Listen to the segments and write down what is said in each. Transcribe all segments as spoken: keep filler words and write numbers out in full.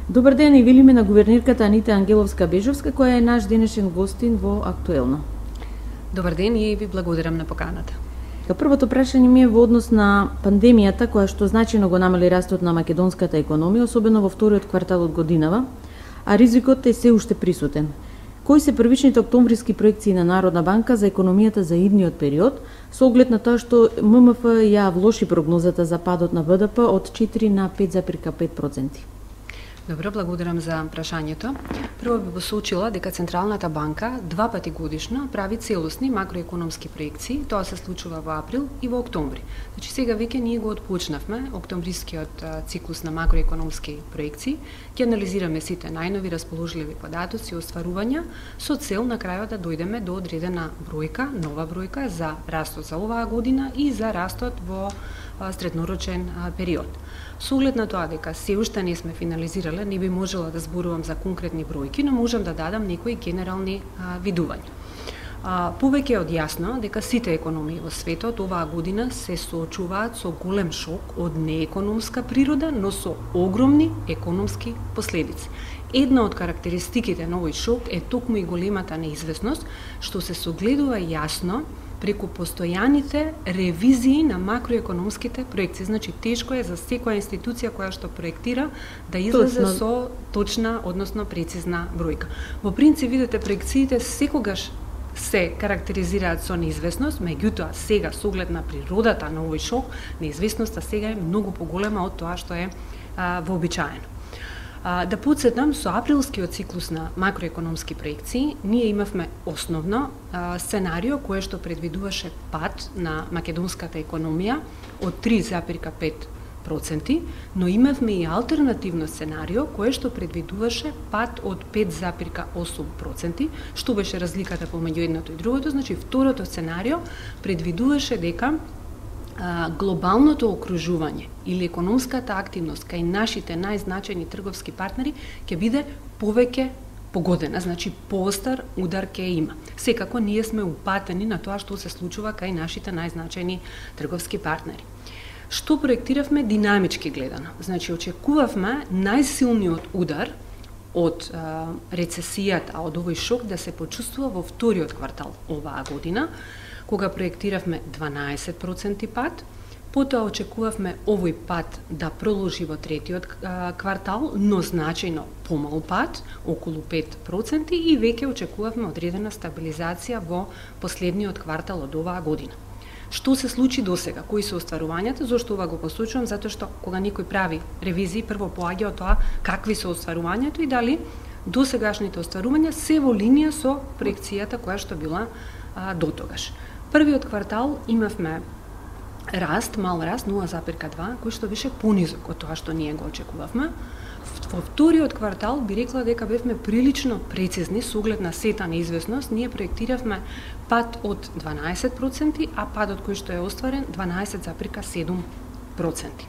Добар ден, и велиме на гувернерката Анита Ангеловска-Бежовска, која е наш денешен гостин во Актуелно. Добар ден и ви благодарам на поканата. Првото прашање ми е во однос на пандемијата, која што значајно го намали растот на македонската економија, особено во вториот квартал од годинава, а ризикот е се уште присутен. Кои се првичните октомвриски проекции на Народна банка за економијата за идниот период, со оглед на тоа што ММФ ја влоши прогнозата за падот на БДП од четири на пет зарез пет проценти? Добро, благодарам за прашањето. Прво би посочила дека Централната банка два пати годишно прави целосни макроекономски проекции. Тоа се случува во април и во октомври. Значи сега веќе ние го отпочнавме октомврискиот циклус на макроекономски проекции. Ќе анализираме сите најнови расположливи податоци и остварувања со цел на крајот да дојдеме до одредена бројка, нова бројка за растот за оваа година и за растот во среднорочен период. Со оглед на тоа дека се уште не сме финализирале, не би можела да зборувам за конкретни бројки, но можам да дадам некои генерални а, видувања. А, повеќе од јасно дека сите економии во светот оваа година се соочуваат со голем шок од неекономска природа, но со огромни економски последици. Една од карактеристиките на овој шок е токму и големата неизвестност, што се согледува јасно преку постојаните ревизии на макроекономските проекции. Значи, тешко е за секоја институција која што проектира да излезе точно со точна, односно прецизна бројка. Во принцип, видите, проекциите секогаш се карактеризираат со неизвестност, меѓутоа сега, со оглед на природата на овој шок, неизвестноста сега е многу поголема од тоа што е а, вообичаено. Да подсетам, со априлскиот циклус на макроекономски проекции, ние имавме основно а, сценарио кое што предвидуваше пад на македонската економија од три зарез пет проценти, но имавме и алтернативно сценарио кое што предвидуваше пад од пет зарез осум проценти, што беше разликата помеѓу едното и другото. Значи, второто сценарио предвидуваше дека А, глобалното окружување или економската активност кај нашите најзначајни трговски партнери ќе биде повеќе погодена, значи поостар удар ќе има. Секако ние сме упатени на тоа што се случува кај нашите најзначајни трговски партнери. Што проектиравме динамички гледано? Значи очекувавме најсилниот удар од а, рецесијата, од овој шок да се почувствува во вториот квартал оваа година, кога проектиравме дванаесет проценти пад, потоа очекувавме овој пад да продолжи во третиот квартал, но значајно помал пад, околу пет проценти, и веќе очекувавме одредена стабилизација во последниот квартал од оваа година. Што се случи досега? Кои се остварувањата? Зошто ова го посочувам? Затоа што кога некој прави ревизии, прво поаѓа од тоа какви се остварувањето и дали досегашните остварувања се во линија со проекцијата која што била а, дотогаш. Првиот квартал имавме раст, мал раст, нула зарез два, кој што беше понизок од тоа што ние го очекувавме. Во вториот квартал би рекла дека бевме прилично прецизни со оглед на сета неизвестност. Ние проектиравме пад од дванаесет проценти, а падот кој што е остварен дванаесет зарез седум проценти.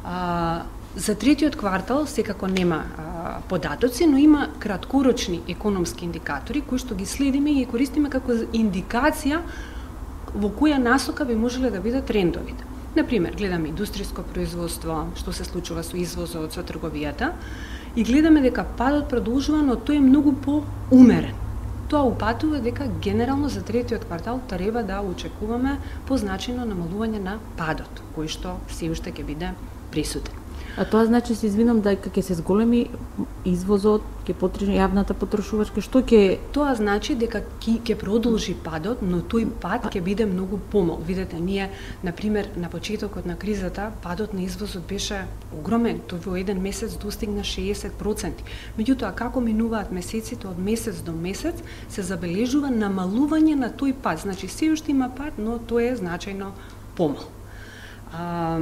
А, за третиот квартал секако нема а, податоци, но има краткорочни економски индикатори кои што ги следиме и ги користиме како индикација во која насока би можеле да бидат трендовите. Например, гледаме индустријско производство, што се случува со извозот, со трговијата, и гледаме дека падот продолжува, но тој е многу поумерен. Тоа упатува дека генерално за третиот квартал треба да очекуваме позначајно намалување на падот, кој што се уште ќе биде присутен. А тоа значи, се извинам, дека ќе се зголеми извозот, ќе потребни јавната потрошувачка, што ќе... Тоа значи дека ќе продолжи падот, но тој пад ќе биде многу помал. Видете, ние, например, на почетокот на кризата, падот на извозот беше огромен, тој во еден месец достигна шеесет проценти. Меѓутоа, како минуваат месеците од месец до месец, се забележува намалување на тој пад. Значи, се уште има пад, но тој е значајно помал. А,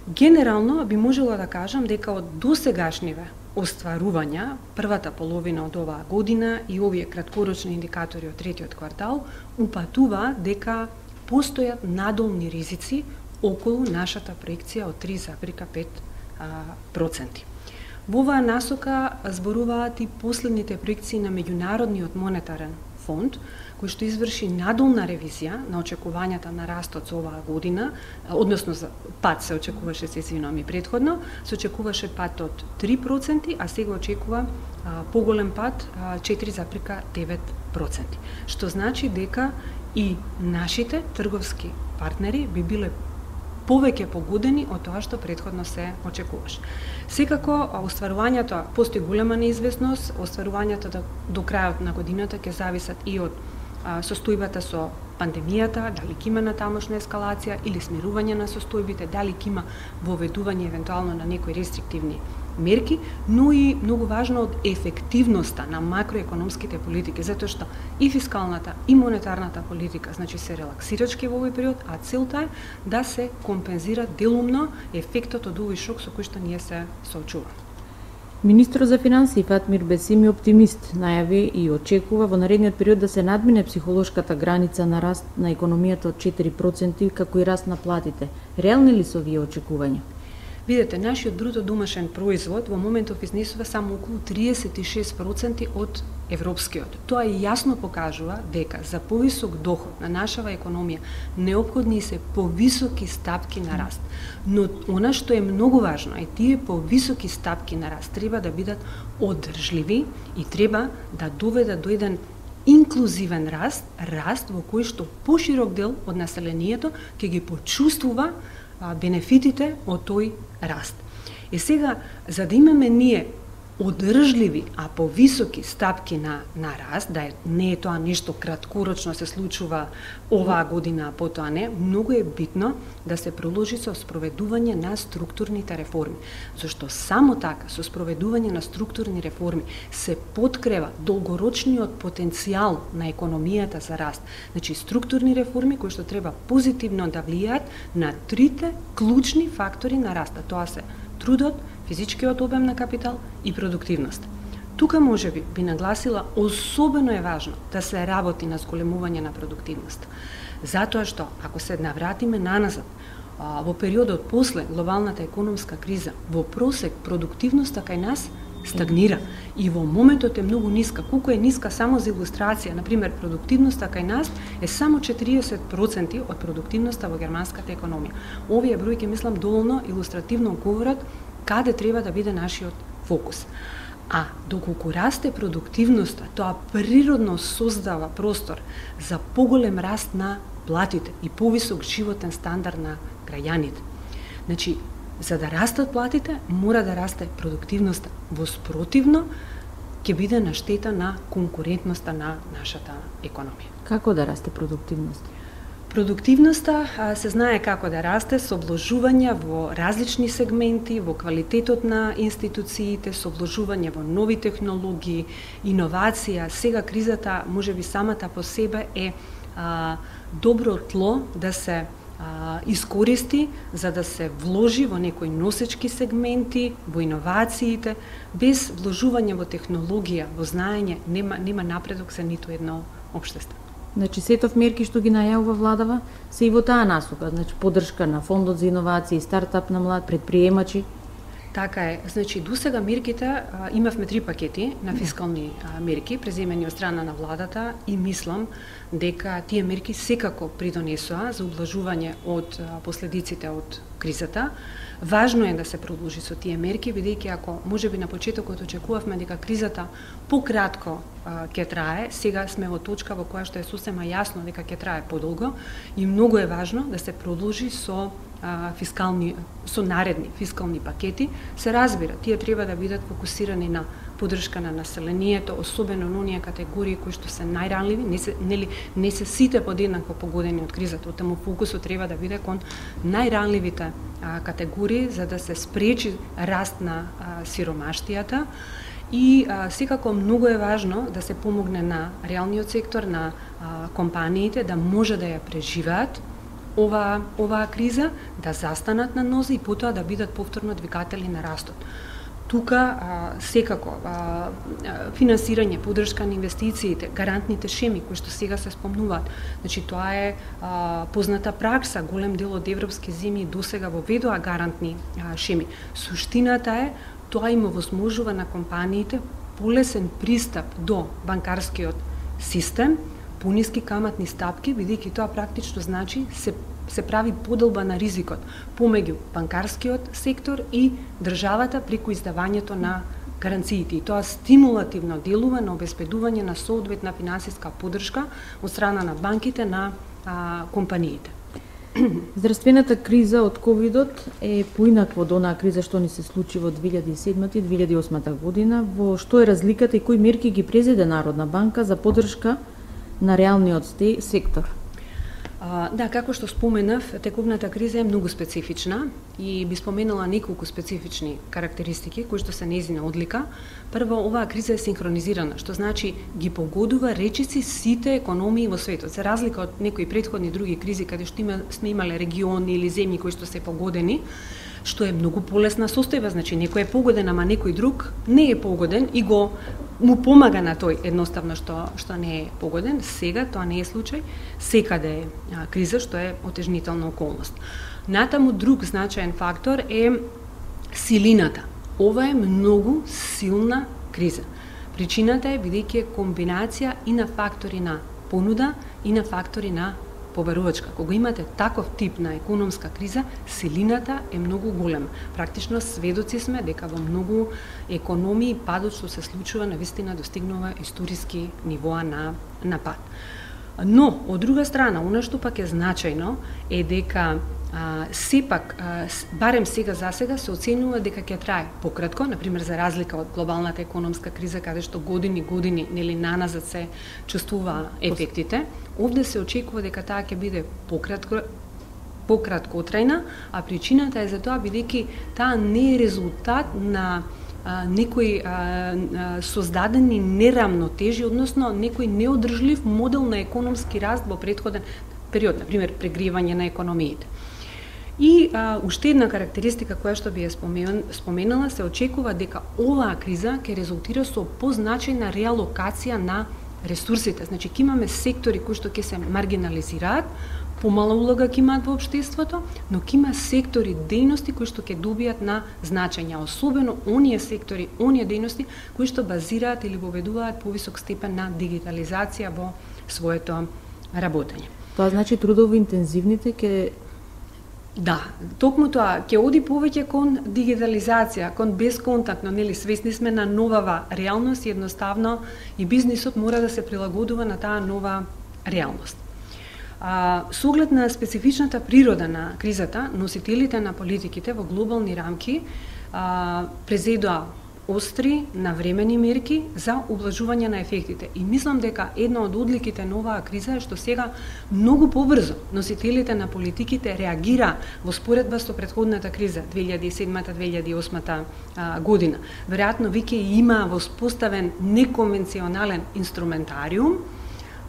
Генерално би можела да кажам дека од досегашниве остварувања првата половина од оваа година и овие краткорочни индикатори од третиот квартал упатува дека постојат надолни ризици околу нашата проекција од три зарез пет проценти. Во оваа насока зборуваат и последните проекции на Меѓународниот монетарен фонд кој што изврши надолна ревизија на очекувањата на растот за оваа година, односно за пад се очекуваше, се извинувам и претходно, се очекуваше пад од три проценти, а сега очекува а, поголем пад а, четири запирка девет проценти. Што значи дека и нашите трговски партнери би биле повеќе погодени од тоа што претходно се очекуваше. Секако, остварувањето, постои голема неизвестност, остварувањето до, до крајот на годината ќе зависат и од а, состојбата со пандемијата, дали ќе има натамошна ескалација или смирување на состојбите, дали ќе има воведување евентуално на некои рестриктивни мерки, но и многу важно од ефективноста на макроекономските политики, затоа што и фискалната и монетарната политика, значи се релаксирачки во овој период, а целта е да се компензира делумно ефектот од овој шок со кој што ние се соочуваме. Министрот за финансии Фатмир Бесим е оптимист, најави и очекува во наредниот период да се надмине психолошката граница на раст на економијата од четири проценти, како и раст на платите. Реални ли се овие очекувања? Видете, нашиот бруто домашен производ во моментов изнесува само околу триесет и шест проценти од европскиот. Тоа јасно покажува дека за повисок доход на нашава економија неопходни се повисоки стапки на раст. Но она што е многу важно е тие повисоки стапки на раст треба да бидат одржливи и треба да доведат до еден инклузивен раст, раст во кој што поширок дел од населението ќе ги почувствува бенефитите од тој раст. И сега, за да имаме ние одржливи, а повисоки стапки на, на раст, да е, не е тоа нешто краткорочно се случува оваа година, а потоа не, многу е битно да се проложи со спроведување на структурните реформи. Зашто само така, со спроведување на структурни реформи, се подкрива долгорочниот потенцијал на економијата за раст. Значи, структурни реформи кои што треба позитивно да влијаат на трите клучни фактори на раста. Тоа се трудот, физичкиот обем на капитал и продуктивност. Тука можеби би нагласила особено е важно да се работи на зголемување на продуктивност. Затоа што ако се навратиме наназад, во периодот после глобалната економска криза, во просек продуктивноста кај нас стагнира и во моментот е многу ниска. Колку е ниска само за илустрација, на пример, продуктивноста кај нас е само четириесет проценти од продуктивноста во германската економија. Овие бројки мислам доволно илустративно говорат каде треба да биде нашиот фокус. А доколку расте продуктивноста, тоа природно создава простор за поголем раст на платите и повисок животен стандард на граѓаните. Значи, за да растат платите, мора да расте продуктивноста. Во спротивно, ќе биде на штета на конкурентноста на нашата економија. Како да расте продуктивноста? Продуктивноста се знае како да расте со вложување во различни сегменти, во квалитетот на институциите, со вложување во нови технологии, иновација. Сега кризата, можеби самата по себе е а, добро тло да се а, искористи за да се вложи во некои носечки сегменти, во иновациите. Без вложување во технологија, во знаење, нема, нема напредок за ниту едно општество. Значи, сетов мерки што ги најавува владава се и во таа насока, значи поддршка на фондот за иновации, стартап на млад предприемачи. Така е. Значи, досега мерките, а, имавме три пакети на фискални а, мерки, преземени од страна на владата и мислам дека тие мерки секако придонесоа за ублажување од а, последиците од кризата. Важно е да се продолжи со тие мерки, бидејќи ако можеби на почетокот очекувавме дека кризата пократко а, ќе трае, сега сме во точка во која што е сосема јасно дека ќе трае подолго и многу е важно да се продолжи со а, фискални со наредни фискални пакети. Се разбира, тие треба да бидат фокусирани на поддршка на населението, особено на оние категории кои што се најранливи, не се нели не се сите подеднакво погодени од кризата, таму фокусот треба да биде кон најранливите а, категории за да се спречи раст на а, сиромаштијата и а, секако многу е важно да се помогне на реалниот сектор, на а, компаниите да може да ја преживеат ова оваа криза, да застанат на нозе и потоа да бидат повторно двигатели на растот. Тука а, секако а, финансирање, поддршка на инвестициите, гарантните шеми кои што сега се спомнуваат. Значи тоа е а, позната пракса, голем дел од европски земји досега воведоа гарантни а, шеми. Суштината е тоа им овозможува на компаниите полесен пристап до банкарскиот систем, пониски каматни стапки, бидејќи тоа практично значи се се прави подолба на ризикот помеѓу банкарскиот сектор и државата преку издавањето на гаранциите. И тоа стимулативно делува на обезбедување на соодветна финансиска поддршка од страна на банките на а, компаниите. Здравствената криза од ковидот е поинаква од онаа криза што ни се случи во две илјади и седма и две илјади и осма година. Во што е разликата и кои мерки ги презеде Народна банка за поддршка на реалниот сектор? А, да, како што споменав, тековната криза е многу специфична и би споменала неколку специфични карактеристики кои што се нејзина одлика. Прво, оваа криза е синхронизирана, што значи ги погодува речиси сите економии во светот. За разлика од некои претходни други кризи каде што има, сме имале региони или земји кои што се погодени, што е многу полесна состојба, значи некој е погоден, ама некој друг не е погоден и го му помага на тој едноставно што што не е погоден. Сега тоа не е случај, секаде е а, криза што е отежнителна околност. Натаму друг значаен фактор е силината. Ова е многу силна криза. Причината е бидејќи е комбинација и на фактори на понуда и на фактори на побарувачка. Кога имате таков тип на економска криза, силината е многу голема. Практично сведоци сме дека во многу економии падот што се случува навистина достигнува историски нивоа на на пад. Но од друга страна, она што пак е значајно е дека а, сепак а, барем сега за сега се оценува дека ќе трае пократко, например за разлика од глобалната економска криза каде што години години нели наназад се чувствува ефектите. Овде се очекува дека таа ќе биде пократко пократко трајна, а причината е за тоа бидејќи таа не е резултат на а, некои а, а, создадени нерамнотежи, односно некој неодржлив модел на економски раст во претходен период, например прегревање на економиите. И а, уште една карактеристика која што би ја споменала, се очекува дека оваа криза ќе резултира со позначајна реалокација на ресурсите. Значи, ќе имаме сектори кои што ќе се маргинализираат, помала улога ќе имаат во општеството, но ќе има сектори, дејности кои што ќе добијат на значење, особено оние сектори, оние дејности кои што базираат или воведуваат повисок степен на дигитализација во своето работење. Тоа значи трудово интензивните ќе Да, токму тоа ќе оди повеќе кон дигитализација, кон безконтактно, нели свесни сме на новава реалност и едноставно и бизнисот мора да се прилагодува на таа нова реалност. А, со оглед на специфичната природа на кризата, носителите на политиките во глобални рамки а, презедоа остри, навремени мерки за облажување на ефектите. И мислам дека една од одликите на оваа криза е што сега многу побрзо носителите на политиките реагира во споредба со претходната криза две илјади и седма - две илјади и осма година. Веројатно веќе има воспоставен неконвенционален инструментариум,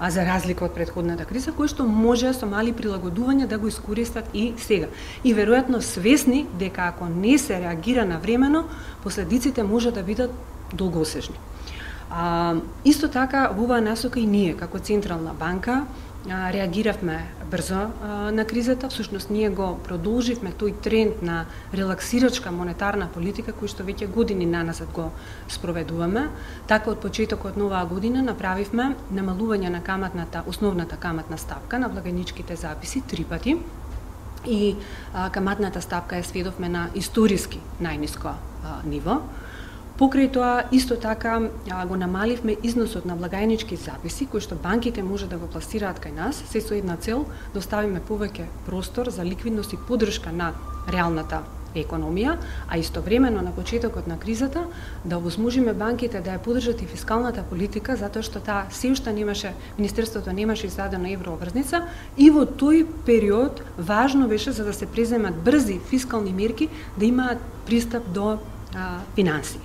а за разлика од претходната криза, кој што може со мали прилагодувања да го искористат и сега. И веројатно свесни дека ако не се реагира навремено, последиците може да бидат долгосежни. А, исто така, во оваа насока и ние, како Централна банка, а, реагиравме брзо а, на кризата. Всушност, ние го продолживме тој тренд на релаксирачка монетарна политика, кој што веќе години наназад го спроведуваме. Така, од почетокот на оваа година направивме намалување на каматната, основната каматна стапка на благajničkите записи три пати. И а, каматната стапка е сведовме на историски најниско а, ниво. Покрај тоа, исто така а, го намаливме износот на блagajnički записи, кои што банките може да го пласираат кај нас, се со една цел да оставиме повеќе простор за ликвидност и поддршка на реалната економија, а истовремено на почетокот на кризата да овозможиме банките да ја поддржат и фискалната политика, затоа што таа се уште немаше, Министерството немаше издадена еврообрзница и во тој период важно беше за да се преземат брзи фискални мерки да имаат пристап до а, финансии.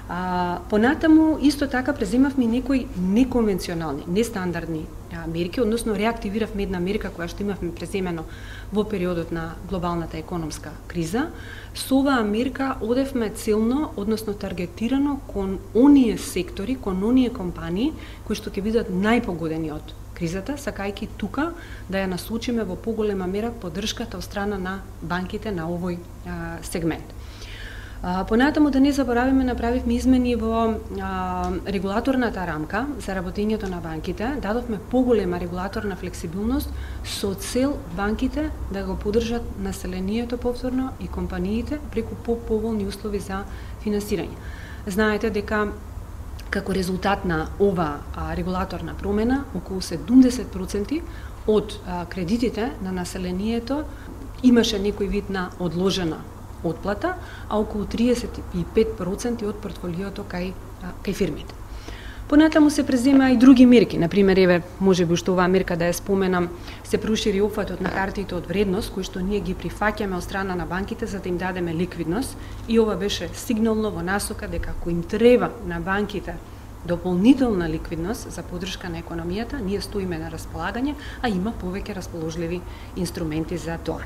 А, понатаму, исто така, преземавме некои неконвенционални, нестандардни а, мерки, односно реактивиравме една мерка која што имавме преземено во периодот на глобалната економска криза. Со оваа мерка одевме целно, односно таргетирано кон оние сектори, кон оние компании кои што ќе бидат најпогодени од кризата, сакајќи тука да ја насочиме во поголема мера поддршката од страна на банките на овој а, сегмент. А, понатаму да не заборавиме, направивме измени во а, регулаторната рамка за работењето на банките, дадовме поголема регулаторна флексибилност со цел банките да го поддржат населението повторно и компаниите преку по-поволни услови за финансирање. Знаете дека како резултат на ова а, регулаторна промена, околу седумдесет проценти од а, кредитите на населението имаше некој вид на одложена отплата, а околу триесет и пет проценти од портфолиото кај, кај фирмите. Понатаму се презема и други мерки, например, еве, можеби што оваа мерка да ја споменам, се прошири опфатот на хартиите од вредност, кои што ние ги прифаќаме од страна на банките за да им дадеме ликвидност, и ова беше сигнално во насока дека ако им треба на банките дополнителна ликвидност за поддршка на економијата, ние стоиме на располагање, а има повеќе расположливи инструменти за тоа.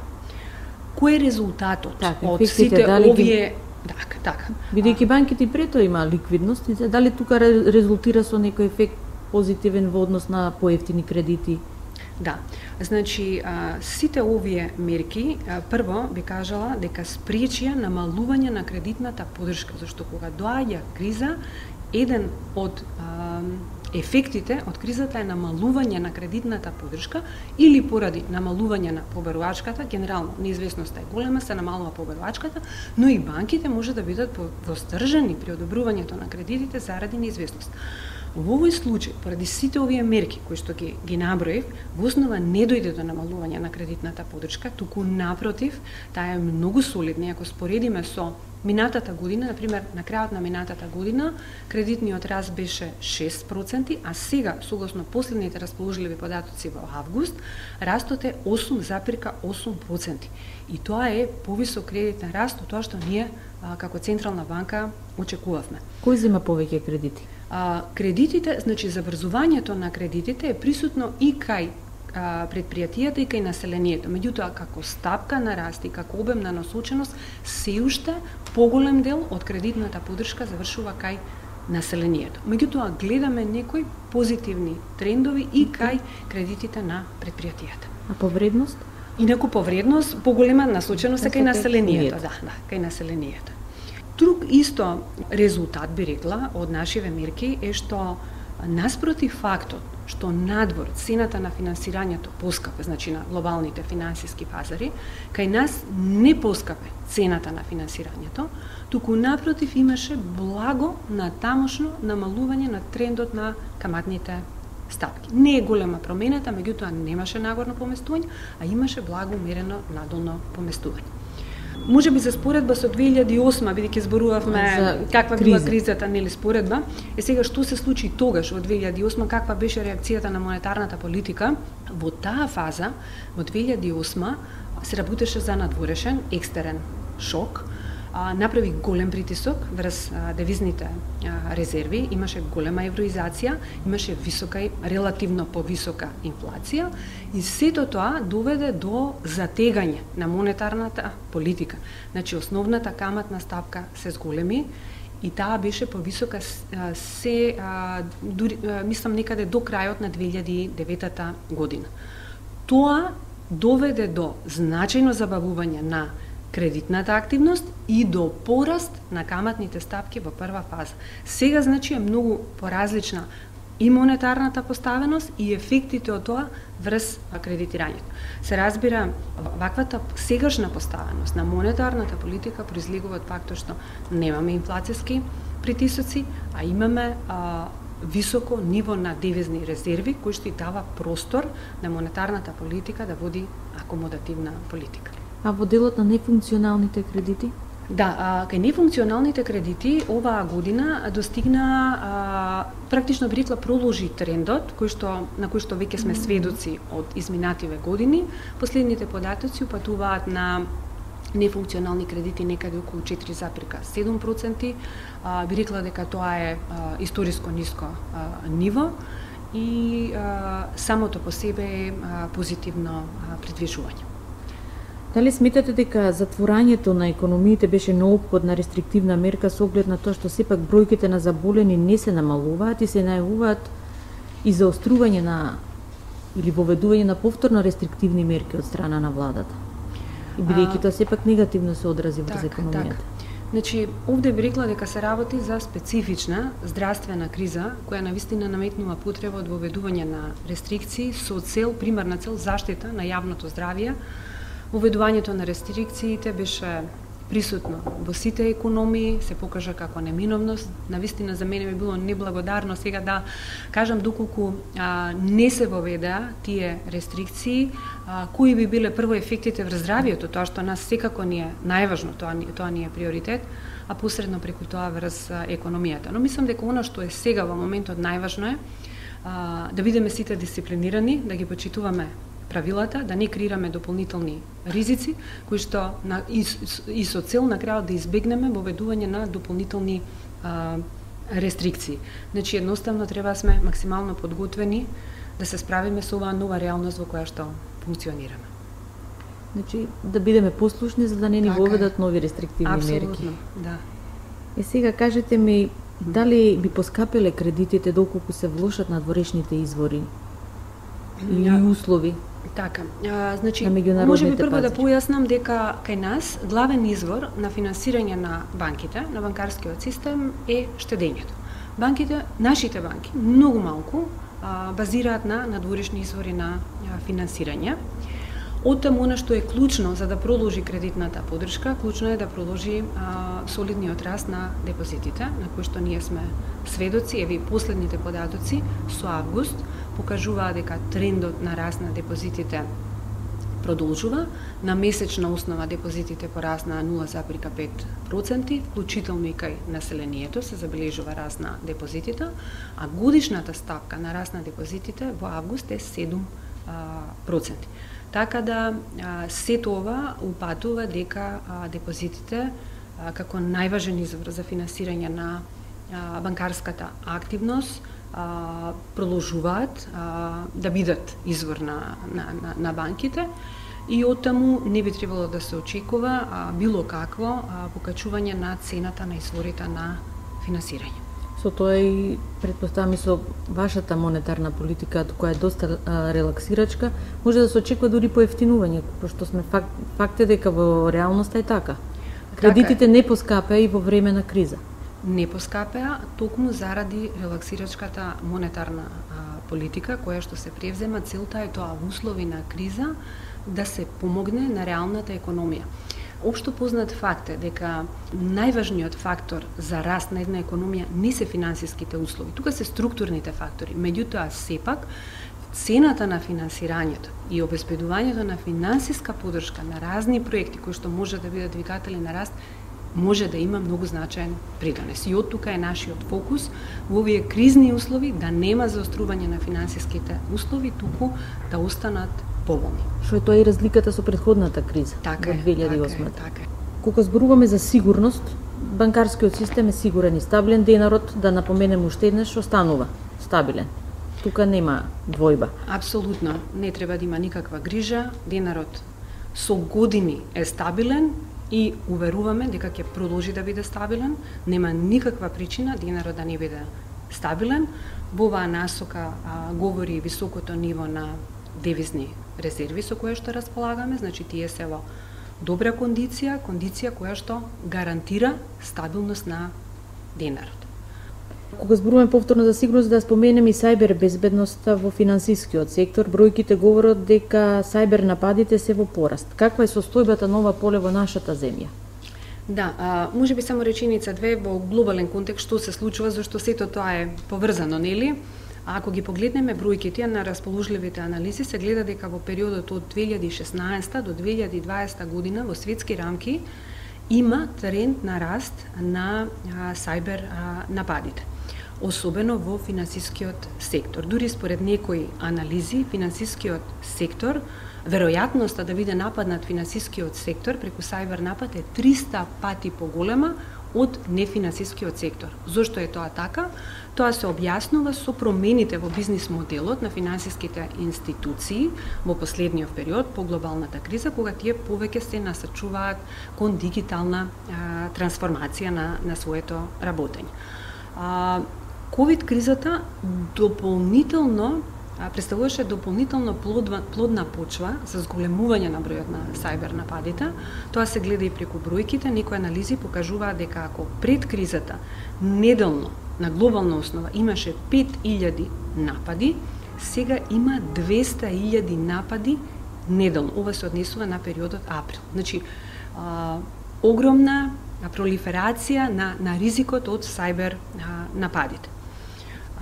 Кој е резултатот так, од сите овие ги... така, така. Бидејќи банките прето има ликвидност, дали тука резултира со некој ефект позитивен во однос на поевтини кредити? Да. Значи, а, сите овие мерки, а, прво би кажала дека спречија намалување на кредитната поддршка, зашто кога доаѓа криза, еден од а, ефектите од кризата е намалување на кредитната поддршка или поради намалување на побарувачката, генерално неизвестноста е голема, се намалува побарувачката, но и банките може да бидат востржани при одобрувањето на кредитите заради неизвестност. Во овој случај, поради сите овие мерки кои што ги, ги наброив, во основа не дојде до намалување на кредитната поддршка, туку напротив, таа е многу солидна. Ако споредиме со минатата година, например, на крајот на минатата година, кредитниот раст беше шест проценти, а сега, согласно последните расположливи податоци во август, растот е осум запирка осум проценти. И тоа е повисок кредитен раст од тоа што ние а, како Централна банка очекувавме. Кој зема повеќе кредити? А, кредитите, значи забрзувањето на кредитите е присутно и кај а, предпријатијата и кај населението. Меѓутоа, како стапка на раст и како обем на насоченост, се уште поголем дел од кредитната поддршка завршува кај населението. Меѓутоа, гледаме некои позитивни трендови и кај кредитите на предпријатијата. А по вредност? Инаку по вредност, поголема насоченост е кај населението. Да, да, кај населението. Друг исто резултат, би рекла, од нашиве мерки е што наспротив фактот што надвор цената на финансирањето поскапе, значи на глобалните финансиски пазари, кај нас не поскапе цената на финансирањето, туку напротив имаше благо натамошно намалување на трендот на каматните стапки. Не е голема промената, меѓутоа немаше нагорно поместување, а имаше благо умерено надолно поместување. Може би за споредба со две илјади и осма, бидејќи зборувавме за каква криза. Била кризата, нели споредба, е сега што се случи тогаш во две илјади и осма, каква беше реакцијата на монетарната политика. Во таа фаза, во две илјади и осма, се работеше за надворешен екстерен шок, а, направи голем притисок врз а, девизните а, резерви, имаше голема евроизација, имаше висока, релативно повисока инфлација и сето тоа доведе до затегање на монетарната политика. Значи, основната каматна стапка се зголеми и таа беше повисока се, а, дури, а, мислам, некаде до крајот на две илјади и девета година. Тоа доведе до значајно забавување на кредитната активност и до пораст на каматните стапки во прва фаза. Сега, значи, е многу поразлична и монетарната поставеност и ефектите од тоа врз кредитирањето. Се разбира, ваквата сегашна поставеност на монетарната политика произлегува од фактот што немаме инфлацијски притисоци, а имаме а, високо ниво на девизни резерви, кој што дава простор на монетарната политика да води акомодативна политика. А во делот на нефункционалните кредити? Да, а, кај нефункционалните кредити оваа година достигна, а, практично би рекла, проложи трендот кој што, на кој што веќе сме сведоци од изминативе години. Последните податоци упатуваат на нефункционални кредити некаде околу четири запирка седум проценти. А, би рекла дека тоа е а, историско ниско а, ниво и а, самото по себе е а, позитивно а, предвижување. Дали сметате дека затворањето на економиите беше неопходна рестриктивна мерка со оглед на тоа што сепак бројките на заболени не се намалуваат и се најавуваат и заострување на или воведување на повторно рестриктивни мерки од страна на владата? И бидејќи тоа сепак негативно се одрази врз економијата. Так. Значи, овде би рекла дека се работи за специфична здравствена криза, која навистина наметнува потреба од воведување на рестрикции со цел, примарна цел, заштита на јавното здравје. Воведувањето на рестрикциите беше присутно во сите економии, се покажа како неминовност. Навистина за мене би било неблагодарно сега да кажам доколку а, не се воведеа тие рестрикции, а, кои би биле прво ефектите врз здравието, тоа што нас секако ни е најважно, тоа, тоа ни е приоритет, а посредно преку тоа врз економијата. Но мислам дека она што е сега во моментот најважно е а, да бидеме сите дисциплинирани, да ги почитуваме правилата, да не креираме дополнителни ризици, кои што на, и, и со цел на крајот да избегнеме воведување на дополнителни а, рестрикции. Значи, едноставно треба сме максимално подготвени да се справиме со оваа нова реалност во која што функционираме. Значи, да бидеме послушни за да не ни така воведат нови рестриктивни Абсолютно, мерки. Да. И сега кажете ми, дали би поскапеле кредитите доколку се влошат надворешните извори и Ja. услови? Така, а, значи, на може би прво пазари. да појаснам дека кај нас главен извор на финансирање на банките, на банкарскиот систем е штедењето. Банките, нашите банки, многу малку а, базираат на надворешни извори на а, финансирање. Оттаму она што е клучно за да продолжи кредитната поддршка, клучно е да продолжи а, солидниот раст на депозитите, на кој што ние сме сведоци. Еви последните податоци со август покажуваа дека трендот на раст на депозитите продолжува. На месечна основа депозитите пораснаа нула зарез пет проценти, вклучително и кај населението се забележува раст на депозитите, а годишната стапка на раст на депозитите во август е седум проценти. Така да се тоа упатува дека депозитите како најважен извор за финансирање на банкарската активност продолжуваат да бидат извор на, на, на, на банките и оттаму не би требало да се очекува а, било какво а, покачување на цената на изворите на финансирање. Со тоа и претпоставам и со вашата монетарна политика, која е доста а, релаксирачка, може да се очекува дури поевтинување, пошто сме факт, факт е дека во реалноста е така. Кредитите не поскапеа и во време на криза. Не поскапеа токму заради релаксирачката монетарна а, политика која што се превзема. Целта е тоа во услови на криза да се помогне на реалната економија. Општо познат факт е дека најважниот фактор за раст на една економија не се финансиските услови, тука се структурните фактори. Меѓутоа, сепак, цената на финансирањето и обезбедувањето на финансиска поддршка на разни проекти кои што може да бидат двигатели на раст може да има многу значаен придонес. И од тука е нашиот фокус во овие кризни услови да нема заострување на финансиските услови, туку да останат поволни. Што е тоа и разликата со претходната криза така во две илјади и осма. Така е, така е. Кога зборуваме за сигурност, банкарскиот систем е сигурен и стабилен, денарот, да напоменем уште еднаш, останува стабилен. Тука нема двојба. Апсолутно, не треба да има никаква грижа, денарот со години е стабилен и уверуваме дека ќе продолжи да биде стабилен, нема никаква причина денарот да не биде стабилен. Во оваа насока а, говори високото ниво на девизни резерви со која што располагаме, значи тие се во добра кондиција, кондиција која што гарантира стабилност на денарот. Кога зборуваме повторно за сигурност, да споменем и сајбер безбедноста во финансискиот сектор. Бројките говорат дека сајбер нападите се во пораст. Каква е состојбата на ова поле во нашата земја? Да, а, може би само реченица две во глобален контекст што се случува, зашто сето тоа е поврзано, нели? А ако ги погледнеме бројките на расположливите анализи, се гледа дека во периодот од две илјади и шеснаесета до две илјади и дваесета година во светски рамки има тренд на раст на а, сајбер а, нападите, особено во финансискиот сектор. Дури според некои анализи, финансискиот сектор, веројатноста да биде нападнат финансискиот сектор преку сајбер напад е триста пати поголема од нефинансискиот сектор. Зошто е тоа така? Тоа се објаснува со промените во бизнис моделот на финансиските институции во последниот период по глобалната криза, кога тие повеќе се насочуваат кон дигитална а, трансформација на, на своето работење. А, ковид кризата дополнително представуваше дополнително плодна, плодна почва за зголемување на бројот на сајбер нападите. Тоа се гледа и преку бројките. Некои анализи покажуваат дека ако пред кризата неделно на глобална основа имаше пет илјади напади, сега има двесте илјади напади неделно. Ова се однесува на периодот април. Значи, а, огромна пролиферација на, на ризикот од сајбер а, нападите.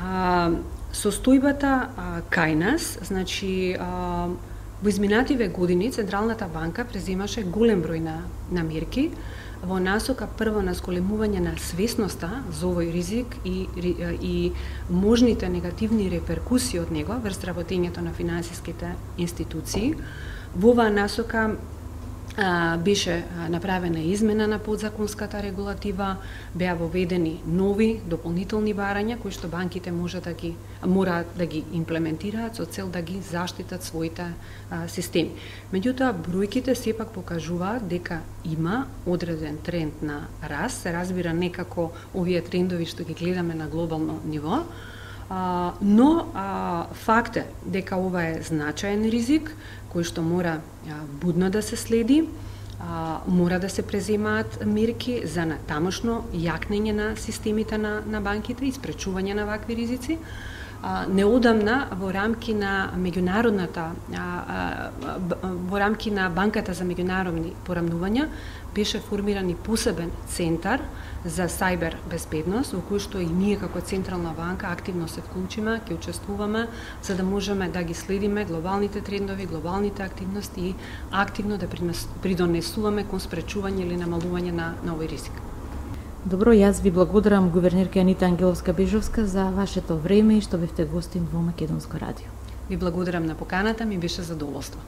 А, состојбата а, кај нас, значи, а, во изминативе години Централната банка преземаше голем број на, на мерки во насока прво на зголемување на свесноста за овој ризик и, и можните негативни реперкусии од него врз работењето на финансиските институции. Во оваа насока а, беше направена измена на подзаконската регулатива, беа воведени нови дополнителни барања кои што банките може да ги мора да ги имплементираат со цел да ги заштитат своите а, системи. Меѓутоа бројките сепак покажуваат дека има одреден тренд на раст, се разбира некако овие трендови што ги гледаме на глобално ниво, а, но а, факт е дека ова е значаен ризик кој што мора а, будно да се следи, а, мора да се преземаат мерки за натамошно јакнење на системите на, на банките и спречување на вакви ризици. А, неодамна во рамки на меѓународната а, а, во рамки на банката за меѓународни порамнувања беше формиран и посебен центар за сајбер безбедност, во кој што и ние како Централна банка активно се вклучиме, ќе учествуваме за да можеме да ги следиме глобалните трендови, глобалните активности и активно да придонесуваме кон спречување или намалување на, на овој ризик. Добро, јас ви благодарам, гувернерка Анита Ангеловска-Бежовска, за вашето време и што бевте гостин во Македонско радио. Ви благодарам на поканата, ми беше задоволство.